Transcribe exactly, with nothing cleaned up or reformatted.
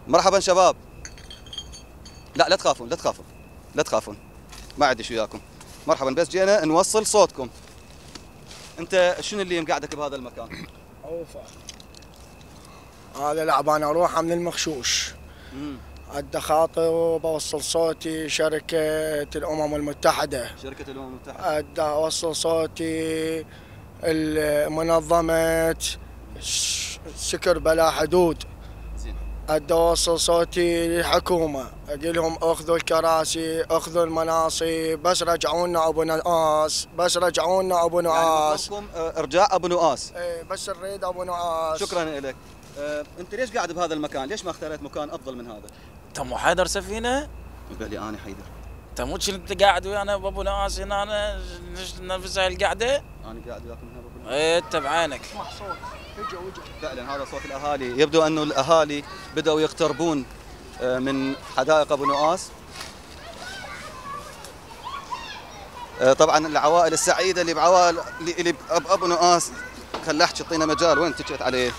مرحبا شباب. لا لا تخافون لا تخافون لا تخافون، ما عندي شو وياكم. مرحبا، بس جينا نوصل صوتكم. انت شنو اللي مقعدك بهذا المكان؟ اوفا هذا لعبان اروحه من المخشوش. امم ادى خاطر وبوصل صوتي شركة الامم المتحدة. شركة الامم المتحدة. ادى اوصل صوتي المنظمة سكر بلا حدود. زين. ادى اوصل صوتي للحكومة، اقول لهم اخذوا الكراسي، اخذوا المناصب، بس رجعونا ابو نواس، بس رجعونا ابو نواس. يعني مطلبكم ارجاع ابو نواس. ايه بس نريد ابو نواس. شكرا لك. أه، انت ليش قاعد بهذا المكان؟ ليش ما اختاريت مكان افضل من هذا؟ انت مو حيدر سفينه؟ قال لي انا حيدر. انت مو انت قاعد ويانا بابو نواس هنا، أنا نفس هاي القعده؟ انا قاعد وياكم هنا بابو نواس. ايه انت بعينك. اسمع صوت، اجوا اجوا. فعلا هذا صوت الاهالي، يبدو انه الاهالي بداوا يقتربون من حدائق ابو نواس. طبعا العوائل السعيده اللي بعوائل اللي بابو نواس، خل احكي اعطينا مجال. وين اتكيت عليه؟